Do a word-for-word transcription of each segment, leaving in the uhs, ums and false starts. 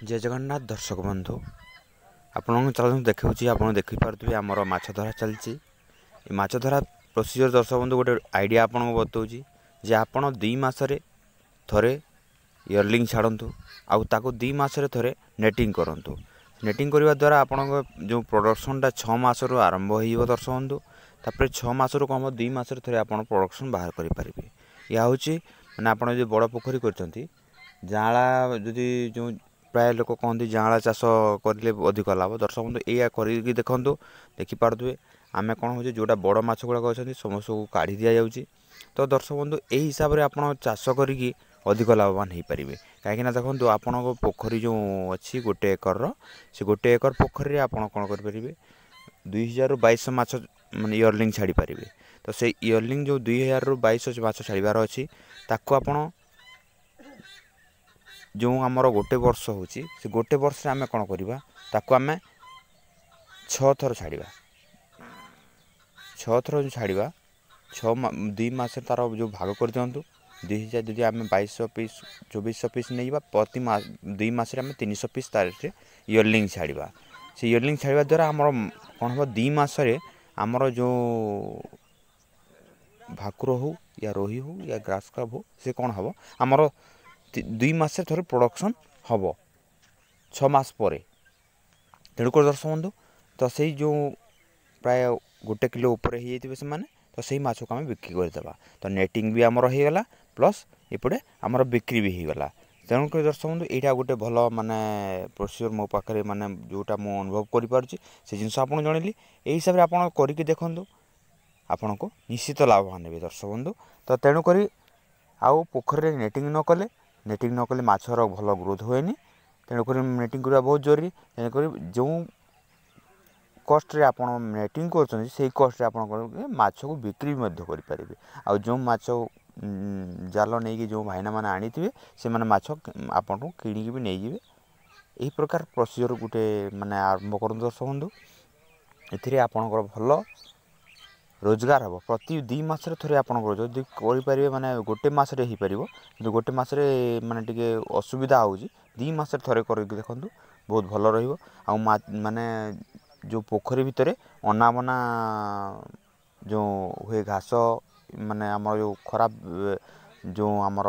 ଜୟ ଜଗନ୍ନାଥ ଦର୍ଶକ ବନ୍ଧୁ, ଆପଣଙ୍କୁ ଚାଲନ୍ତୁ ଦେଖାଉଛି। ଆପଣ ଦେଖିପାରୁଥିବେ ଆମର ମାଛ ଧରା ଚାଲିଛି। ଏ ମାଛ ଧରା ପ୍ରୋସିଜର୍ ଦର୍ଶକ ବନ୍ଧୁ, ଗୋଟେ ଆଇଡ଼ିଆ ଆପଣଙ୍କୁ ବତାଉଛି ଯେ ଆପଣ ଦୁଇ ମାସରେ ଥରେ ଇୟରଲିଂ ଛାଡ଼ନ୍ତୁ ଆଉ ତାକୁ ଦୁଇ ମାସରେ ଥରେ ନେଟିଂ କରନ୍ତୁ। ନେଟିଂ କରିବା ଦ୍ୱାରା ଆପଣଙ୍କ ଯେଉଁ ପ୍ରଡ଼କ୍ସନ୍ଟା ଛଅ ମାସରୁ ଆରମ୍ଭ ହେଇଯିବ ଦର୍ଶକ ବନ୍ଧୁ। ତାପରେ ଛଅ ମାସରୁ କମ ଦୁଇ ମାସରେ ଥରେ ଆପଣ ପ୍ରଡ଼କ୍ସନ୍ ବାହାର କରିପାରିବେ। ଏହା ହେଉଛି ମାନେ ଆପଣ ଯଦି ବଡ଼ ପୋଖରୀ କରିଛନ୍ତି, ଯାଆଁଳା ଯଦି ଯେଉଁ ପ୍ରାୟ ଲୋକ କହନ୍ତି ଯାଆଁଳା ଚାଷ କରିଲେ ଅଧିକ ଲାଭ, ଦର୍ଶକ ବନ୍ଧୁ ଏଇଆ କରିକି ଦେଖନ୍ତୁ। ଦେଖିପାରୁଥିବେ ଆମେ କ'ଣ ହେଉଛି, ଯେଉଁଟା ବଡ଼ ମାଛ ଗୁଡ଼ାକ ଅଛନ୍ତି ସମସ୍ତଙ୍କୁ କାଢ଼ି ଦିଆଯାଉଛି। ତ ଦର୍ଶକ ବନ୍ଧୁ, ଏଇ ହିସାବରେ ଆପଣ ଚାଷ କରିକି ଅଧିକ ଲାଭବାନ ହେଇପାରିବେ। କାହିଁକିନା ଦେଖନ୍ତୁ, ଆପଣଙ୍କ ପୋଖରୀ ଯେଉଁ ଅଛି ଗୋଟେ ଏକରର, ସେ ଗୋଟେ ଏକର ପୋଖରୀରେ ଆପଣ କ'ଣ କରିପାରିବେ? ଦୁଇ ହଜାରରୁ ବାଇଶହ ମାଛ ମାନେ ଇୟରଲିଂ ଛାଡ଼ିପାରିବେ। ତ ସେଇ ଇୟରଲିଂ ଯେଉଁ ଦୁଇ ହଜାରରୁ ବାଇଶହ ମାଛ ଛାଡ଼ିବାର ଅଛି, ତାକୁ ଆପଣ ଯେଉଁ ଆମର ଗୋଟେ ବର୍ଷ ହେଉଛି, ସେ ଗୋଟେ ବର୍ଷରେ ଆମେ କ'ଣ କରିବା? ତାକୁ ଆମେ ଛଅ ଥର ଛାଡ଼ିବା। ଛଅ ଥର ଯେଉଁ ଛାଡ଼ିବା, ଛଅ ଦୁଇ ମାସରେ ତା'ର ଯେଉଁ ଭାଗ କରିଦିଅନ୍ତୁ। ଦୁଇ ହଜାର ଯଦି ଆମେ ବାଇଶହ ପିସ୍ ଚବିଶଶହ ପିସ୍ ନେଇଯିବା, ପ୍ରତି ଦୁଇ ମାସରେ ଆମେ ତିନିଶହ ପିସ୍ ତାରରେ ଇୟରଲିଂ ଛାଡ଼ିବା। ସେ ଇୟରଲିଂ ଛାଡ଼ିବା ଦ୍ୱାରା ଆମର କ'ଣ ହେବ? ଦୁଇ ମାସରେ ଆମର ଯେଉଁ ଭାକୁର ହଉ ୟା ରୋହି ହଉ ୟା ଗ୍ରାସ୍ କାର୍ପ ହଉ, ସେ କ'ଣ ହେବ? ଆମର ଦୁଇ ମାସରେ ଥରେ ପ୍ରଡ଼କ୍ସନ୍ ହେବ ଛଅ ମାସ ପରେ। ତେଣୁକରି ଦର୍ଶକ ବନ୍ଧୁ, ତ ସେଇ ଯେଉଁ ପ୍ରାୟ ଗୋଟେ କିଲୋ ଉପରେ ହେଇଯାଇଥିବେ ସେମାନେ, ତ ସେଇ ମାଛକୁ ଆମେ ବିକ୍ରି କରିଦେବା। ତ ନେଟିଂ ବି ଆମର ହେଇଗଲା, ପ୍ଲସ୍ ଏପଟେ ଆମର ବିକ୍ରି ବି ହେଇଗଲା। ତେଣୁକରି ଦର୍ଶକ ବନ୍ଧୁ, ଏଇଟା ଗୋଟେ ଭଲ ମାନେ ପ୍ରୋସିଜର୍ ମୋ ପାଖରେ, ମାନେ ଯେଉଁଟା ମୁଁ ଅନୁଭବ କରିପାରୁଛି ସେ ଜିନିଷ ଆପଣଙ୍କୁ ଜଣେଇଲି। ଏଇ ହିସାବରେ ଆପଣ କରିକି ଦେଖନ୍ତୁ, ଆପଣଙ୍କୁ ନିଶ୍ଚିତ ଲାଭବାନ ହେବେ ଦର୍ଶକ ବନ୍ଧୁ। ତ ତେଣୁକରି ଆଉ ପୋଖରୀରେ ନେଟିଂ ନ କଲେ ନେଟିଂ ନ କଲେ ମାଛର ଭଲ ଗ୍ରୋଥ୍ ହୁଏନି। ତେଣୁକରି ନେଟିଂ କରିବା ବହୁତ ଜରୁରୀ। ତେଣୁକରି ଯେଉଁ କଷ୍ଟରେ ଆପଣ ନେଟିଂ କରୁଛନ୍ତି, ସେଇ କଷ୍ଟରେ ଆପଣ ମାଛକୁ ବିକ୍ରି ବି ମଧ୍ୟ କରିପାରିବେ। ଆଉ ଯେଉଁ ମାଛ ଜାଲ ନେଇକି ଯେଉଁ ଭାଇନାମାନେ ଆଣିଥିବେ, ସେମାନେ ମାଛ ଆପଣଙ୍କୁ କିଣିକି ବି ନେଇଯିବେ। ଏହି ପ୍ରକାର ପ୍ରୋସିଜର୍ ଗୋଟେ ମାନେ ଆରମ୍ଭ କରନ୍ତୁ ଦର୍ଶକ ବନ୍ଧୁ, ଏଥିରେ ଆପଣଙ୍କର ଭଲ ରୋଜଗାର ହେବ। ପ୍ରତି ଦୁଇ ମାସରେ ଥରେ ଆପଣଙ୍କର ଯଦି କରିପାରିବେ, ମାନେ ଗୋଟେ ମାସରେ ହେଇପାରିବ, କିନ୍ତୁ ଗୋଟେ ମାସରେ ମାନେ ଟିକେ ଅସୁବିଧା ହେଉଛି। ଦୁଇ ମାସରେ ଥରେ କରିକି ଦେଖନ୍ତୁ, ବହୁତ ଭଲ ରହିବ। ଆଉ ମାନେ ଯେଉଁ ପୋଖରୀ ଭିତରେ ଅନାବନା ଯେଉଁ ହୁଏ ଘାସ, ମାନେ ଆମର ଯେଉଁ ଖରାପ ଯେଉଁ ଆମର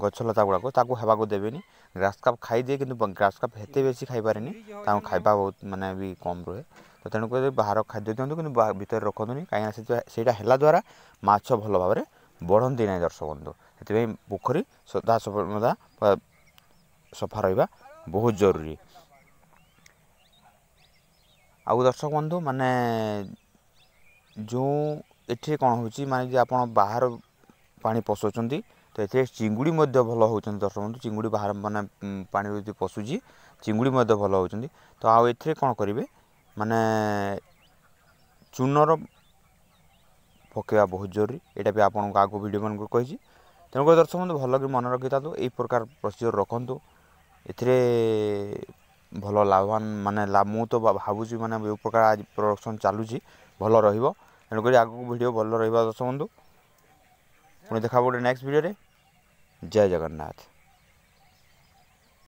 ଗଛଲତା ଗୁଡ଼ାକ, ତାକୁ ହେବାକୁ ଦେବେନି। ଗ୍ରାସ୍ କାର୍ପ ଖାଇଦିଏ, କିନ୍ତୁ ଗ୍ରାସ୍ କାର୍ପ ଏତେ ବେଶୀ ଖାଇପାରେନି, ତାଙ୍କୁ ଖାଇବା ବହୁତ ମାନେ ବି କମ୍ ରୁହେ। ତ ତେଣୁକରି ବାହାର ଖାଦ୍ୟ ଦିଅନ୍ତୁ, କିନ୍ତୁ ଭିତରେ ରଖନ୍ତୁନି, କାହିଁକିନା ସେଇଟା ହେଲା ଦ୍ୱାରା ମାଛ ଭଲ ଭାବରେ ବଢ଼ନ୍ତି ନାହିଁ ଦର୍ଶକ ବନ୍ଧୁ। ସେଥିପାଇଁ ପୋଖରୀ ସଦା ସର୍ବଦା ସଫା ରହିବା ବହୁତ ଜରୁରୀ। ଆଉ ଦର୍ଶକ ବନ୍ଧୁ, ମାନେ ଯେଉଁ ଏଥିରେ କ'ଣ ହେଉଛି, ମାନେ ଯଦି ଆପଣ ବାହାର ପାଣି ପଶାଉଛନ୍ତି, ତ ଏଥିରେ ଚିଙ୍ଗୁଡ଼ି ମଧ୍ୟ ଭଲ ହେଉଛନ୍ତି ଦର୍ଶକ ବନ୍ଧୁ। ଚିଙ୍ଗୁଡ଼ି ବାହାର ମାନେ ପାଣିରୁ ଯଦି ପଶୁଛି, ଚିଙ୍ଗୁଡ଼ି ମଧ୍ୟ ଭଲ ହେଉଛନ୍ତି। ତ ଆଉ ଏଥିରେ କ'ଣ କରିବେ? ମାନେ ଚୂନର ପକାଇବା ବହୁତ ଜରୁରୀ। ଏଇଟା ବି ଆପଣଙ୍କୁ ଆଗକୁ ଭିଡ଼ିଓ ମାନଙ୍କୁ କହିଛି। ତେଣୁକରି ଦର୍ଶକ ବନ୍ଧୁ, ଭଲକି ମନେ ରଖିଥାନ୍ତୁ, ଏଇ ପ୍ରକାର ପ୍ରୋସିଜର୍ ରଖନ୍ତୁ, ଏଥିରେ ଭଲ ଲାଭବାନ ମାନେ ମୁଁ ତ ଭାବୁଛି, ମାନେ ଯେଉଁ ପ୍ରକାର ଆଜି ପ୍ରଡ଼କ୍ସନ୍ ଚାଲୁଛି ଭଲ ରହିବ। ତେଣୁକରି ଆଗକୁ ଭିଡ଼ିଓ ଭଲ ରହିବ ଦର୍ଶକ ବନ୍ଧୁ। ପୁଣି ଦେଖା ଗୋଟେ ନେକ୍ସଟ ଭିଡ଼ିଓରେ। ଜୟ ଜଗନ୍ନାଥ।